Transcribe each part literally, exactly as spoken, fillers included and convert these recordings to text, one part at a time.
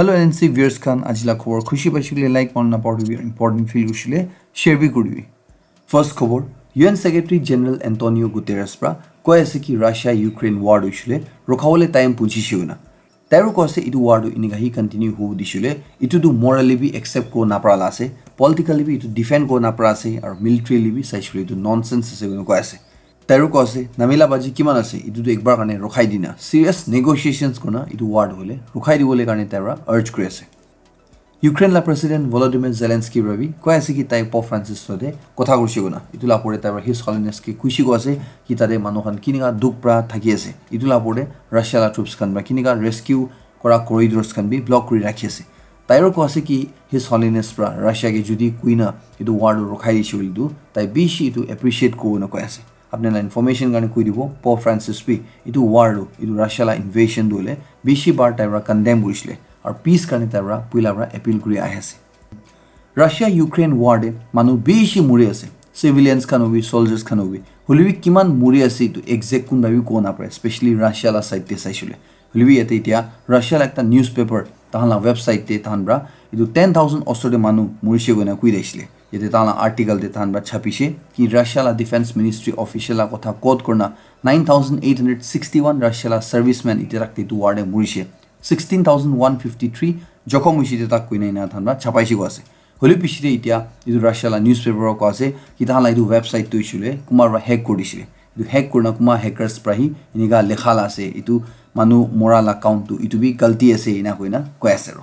Hello N C viewers khan, aji la khobor khushi paishe koile like, mon na pauribi, important feel kurishe koile share bi kuribi. First khobor, U N Secretary General Antonio Guterres pra koi ase ki Russia Ukraine war tu hoishe koile rokhabole time punchise koina. Tairo koi ase etu war tu enika hi continue hobo dise koile, etu tu morally bi accept kori napara la ase, politically bi etu defend kori napara ase, aru militarily bi saishe koile etu nonsense ase koina koi ase. Tairo koi ase, namela baji kiman ase, etu tu ekbar karne rokhai dina, serious negotiations kurna etu war tu hoile rokhai dibole karne taira urge kuri ase. Ukraine la President Volodymyr Zelensky pra bi koi ase ki tai Pope Francis logote kotha kurishe koina. Etu la pore taira His Holiness ke kuishe koi ase ki tate manu khan kinika dukh pra thaki ase. Etu la pore Russia la troops khan pra kinika rescue kora corridors khan bi block kuri rakhi ase. Tairo koi ase ki His Holiness pra Russia ke jodi kuina etu war tu rokhai dishe koile tu tai bishi etu appreciate koribo na koi ase. Apni la information karne koi dibo, Pope Francis bi etu war tu, etu Russia la invasion tu hoile bishi bar taira condemn kurishe koile aru peace karne taira puila pra appeal kuri ahi ase. Russia Ukraine war te manu bishi muri ase, civilians khan hobi, soldiers khan hobi, hoile bi kiman muri ase etu exact kunba bi kobo napare, especially Russia la side te saishe koile. Hoile bi yate etia Russia la ekta newspaper tahan la website te tahan pra etu ten thousand osor te manu murishe koina koi dishile. Yate tahan la article te tahan pra chapishe ki Russia la defense ministry official la kotha quote kurna nine thousand eight hundred sixty-one Russia la servicemen etia tak te etu war te murishe. Sixteen thousand one fifty-three jokhom hoishe etia tak koina ena tahan pra chapaishe koi ase. Hoile piche te etia etu Russia la newspaper koi ase ki tahan la etu website tu hoishe koile kunba pra hack kuri dishe. Etu hack kurna kunba hackers pra hi enika lekha la ase, etu manu mora la count tu etu bi galti ase ena koina koi ase aro.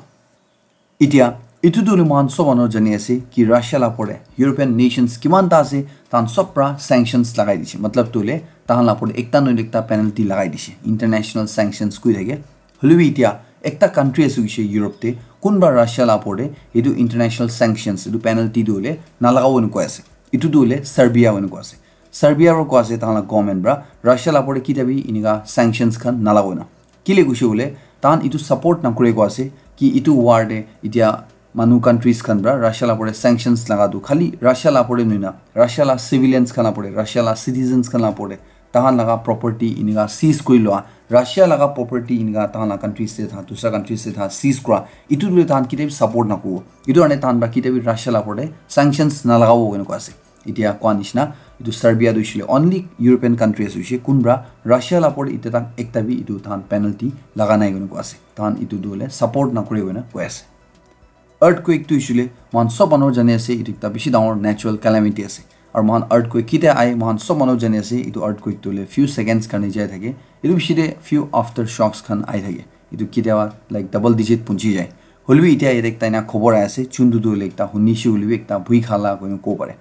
Etia etu tu hoile moikhan sob manu jani ase ki Russia la pore European nations kiman ta ase, tahan sob pra sanctions lagai dishe. Matlab tu hoile tahan la pore ekta noile ekta penalty lagai dishe. International sanctions koi thake. Hoile bi etia ekta country ase hoishe Europe te, kunba Russia la pore etu international sanctions, etu penalty tu hoile nalagabo hoina koi ase. Etu tu hoile Serbia hoina koi ase. Serbia pra koi ase tahan la government pra Russia la pore kitia bi enika sanctions khan nalagabo hoina. Kile koishe koile tahan etu support nakore koi ase ki etu war te etia manu countries khan pra Russia la pore sanctions laga tu khali Russia la pore nohoi na, Russia la civilians khan la pore, Russia la citizens khan la pore tahan laga property enika seize kuri lua, Russia laga property enika tahan la countries te tha, dusra countries te tha seize kura, etu tu tahan kitia bi support nakobo. Etu karne tahan pra kitia bi Russia la pore sanctions nalagabo koina koi ase. Etia koa nishina, etu Serbia tu hoishe koile only European country ase hoishe, kunba Russia la pore etia tak ekta bi etu tahan penalty laga nai koina koi ase. Tahan etu tu hoile support nakore koina koi ase. Earthquake tu hoishe koile moikhan sob manu jani ase, etu ekta bishi dangor natural calamity ase. Aru moikhan earthquake kitia ahe, moikhan sob manu jani ase, etu earthquake tu hoile few seconds karne jai thake. Etu piche te few aftershocks khan ahi thake. Etu kitiaba like double digit punchi jai. Hoile bi etia yate ekta ena khobor ahi ase, chuntu tu hoile ekta hunishe hoile bi ekta bhui khala koina kobo pare.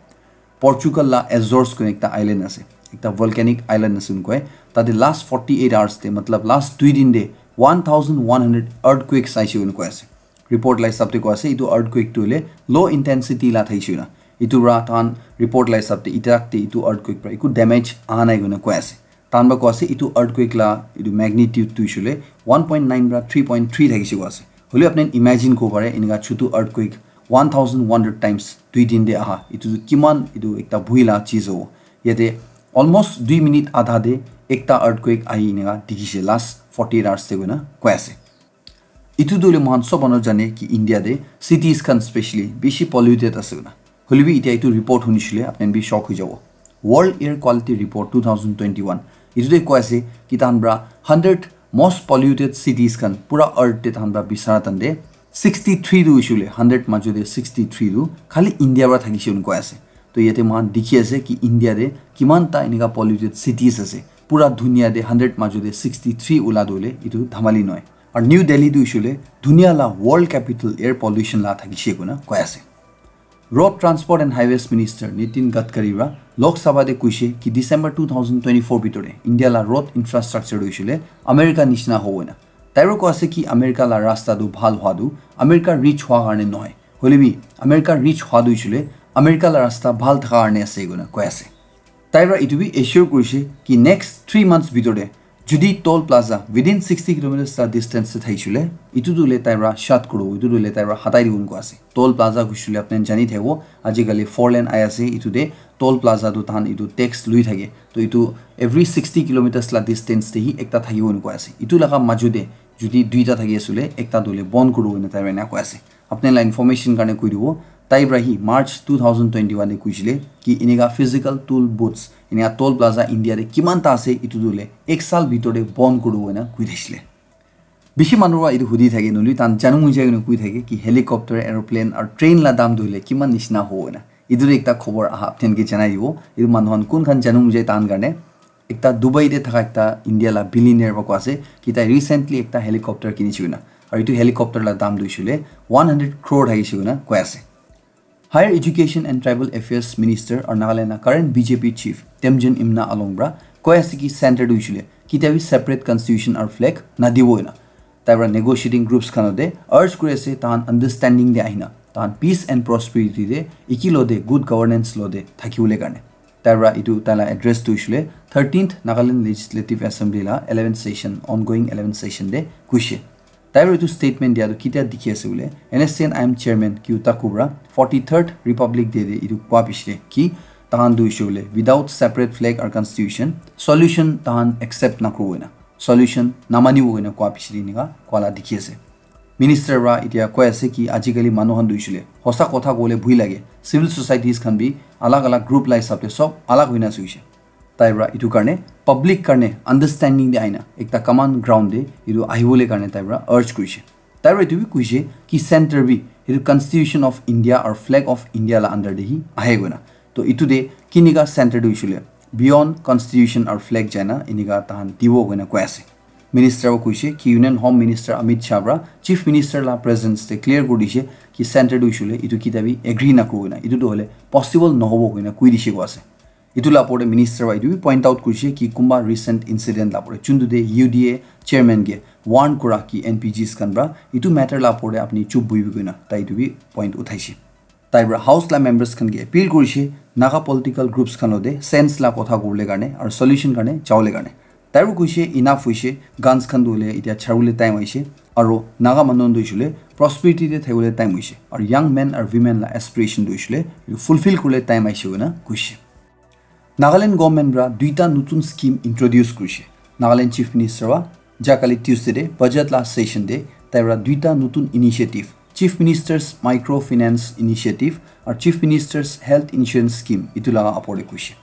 Portugal la Azores koina ekta island ase, ekta volcanic island ase koi. Tate last forty eight hours te, matlab last dui din te one thousand one hundred earthquakes aise koina koi ase. Report la hisab te koi ase etu earthquake tu hoile low intensity la thaise koina. Etu pra tahan report la hisab te etia tak te etu earthquake pra eku damage aha nai koina koi ase. Tahan pra koi ase etu earthquake la etu magnitude tu hoishe koile one point nine pra three point three thakise koi ase. Hoile apni imagine koribo pare enika chutu earthquake one thousand one hundred times dui din te aha, etu tu kiman etu ekta bhui la cheez hobo. Yate almost dui minute adha te ekta earthquake ahi enika dikhise last forty eight hours te koina koi ase. Etu tu hoile moikhan sob manu jane ki India te cities khan specially bishi polluted ase koina. Hoile bi etia etu report hunishile apni khan bi shock hoi jabo. World Air Quality Report two thousand twenty-one. Etu te koi ase ki tahan pra hundred most polluted cities khan pura earth te tahan pra bisara tan te sixty-three tu hoishe koile hundred majo te sixty-three tu khali India pra thakise koina koi ase. To yate moikhan dikhi ase ki India te kiman ta enika polluted cities ase. Pura dunia te hundred majo te sixty-three ula tu hoile etu dhamali nohoi. Aru New Delhi tu hoishe koile dunia la world capital air pollution la thakise koina koi ase. Road Transport and Highways Minister Nitin Gadkari pra Lok Sabha te koishe ki December two thousand twenty-four bitor te India la road infrastructure tu hoishe koile America nishina hobo koina. Tai pra koi ase ki America la rasta tu bhal hwa tu America rich hwa karne nohoi. Hoile bi America rich hwa tu hoishe koile America la rasta bhal thaka karne ase koina koi ase. Tai pra etu bi assure kurishe ki next three months bitor te jodi toll plaza within sixty kilometers la distance te thaishe koile, etu tu hoile tai pra shut kuribo, etu tu hoile tai pra hatai dibo koina koi ase. Toll plaza koishe koile apni khan jani thabo, ajikali four lane ahi ase, etu te toll plaza tu tahan etu tax lui thake. To etu every sixty kilometers la distance te hi ekta thakibo koina koi ase. Etu laga majo te Jodi duita thaki asule, ekta tu hoile bon kuru koina tai para ena koi ase. Apni la information karne koi dibo, tai para hi March two thousand twenty-one te koisile ki enika physical tool booths, enika Toll Plaza India te kiman ta ase, itu tu hoile ek saal bitor te bon kuru koina koi thaisile. Bishi manu para itu hudi thake, noli tan janu mujai koina koi thake ki helicopter, aeroplane aru train la dam tu hoile kiman nishina hobo koina. Itu tu ekta khobor aha apni ke janai dibo. Itu manu khan kun khan janu mujai tan karne ekta Dubai te thaka ekta India la billionaire para koi ase ki tai recently ekta helicopter kinishi koina. Aru itu helicopter la dam tu hoile one hundred crore thakishe koina koi ase. Higher Education and Tribal Affairs Minister aru Nagaland la current B J P chief Temjen Imna Along para koi ase ki center tu hoile kitia bi separate constitution aru flag nadibo koina. Tai para negotiating groups khan te urge kuri ase tahan understanding te ahina tahan peace and prosperity te, iki lo te, good governance lo te thakibole karne. Tai para itu tai la address tu hoile thirteenth Nagaland Legislative Assembly la eleventh session, ongoing eleventh session te koishe. Tai para itu statement dia tu kitia dikhi ase bole, N S C N I M chairman Kyu Taku para forty-third Republic Day te itu koi bishi ki tahan tu hoile without separate flag or constitution solution tahan accept nakuru koina, solution namanibo koina koi bishi enika koi la dikhi ase. Minister para itia koi ase ki ajikali manu khan tu hoile hosa kotha kobole bhoi lage, civil societies khan bi alag alag group la hisab te sob alag hoina ase hoishe. Tai para itu karne public karne understanding te ahina ekta common ground te itu ahibole karne tai para urge kurishe. Tai para itu bi kuishe ki center bi itu Constitution of India or Flag of India la under te hi ahe koina. To itu te kinika center tu hoile beyond constitution or flag jaina enika tahan dibo koina koi ase. Minister para kuishe ki Union Home Minister Amit Shah para Chief Minister la presence te clear kuri dishe ki center tu hoile itu kitia bi agree nakuru koina, itu tu hoile possible nohobo koina koi dishe koi ase. Itu la opor te minister para itu bi point out kurishe ki kunba recent incident la opor te chuntu te U D A chairman ke warn kura ki N P Gs khan para itu matter la opor te apni chup buhibi koina tai itu bi point uthaishe. Tai para house la members khan ke appeal kurishe Naga political groups khan lo te sense la kotha kobole karne aru solution karne jabole karne. Tai para kuishe enough hoishe, guns khan tu hoile itia charibole time ahishe, aru Naga manu tu hoile prosperity te thakibole time hoishe, aru young men aru women la aspiration tu hoile fulfill kuribole time ahishe koina kuishe. Nagaland government para duita nutun scheme introduce kurishe. Nagaland Chief Minister para jakali Tuesday te budget la session te tai para duita nutun initiative, Chief Minister's Microfinance Initiative aru Chief Minister's Health Insurance Scheme itu laga opor te kuishe.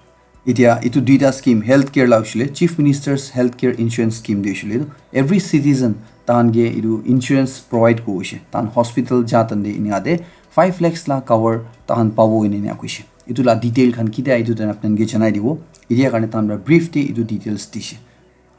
Itia itu duita scheme healthcare la hoile Chief Minister's Healthcare Insurance Scheme de hoile every citizen tahan ke itu insurance provide kurishe. Tahan hospital ja tande inika te five lakhs la cover tahan pabo ine ena kuishe. Itu la detail khan kitia itu tahan apni ke janai dibo. Itia karne tahan para brief te itu details dishe.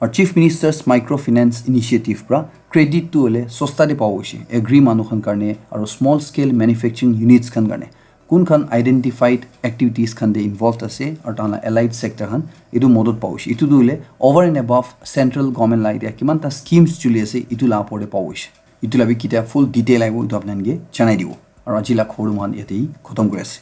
Aru Chief Minister's Microfinance Initiative para credit tu hoile sosta te pabo hoishe. Agri manu khan karne aru small scale manufacturing units khan karne kun khan identified activities khan te involved ase aru tahan la allied sector khan itu modot pabo hoishe. Itu tu hoile over and above central government la itia kiman ta schemes chuli ase itu la opor te pabo hoishe. Itu la bi kitia full detail ahibo itu apni ke janai dibo. Aru aji la khobor moikhan yate hi khotom kuri ase.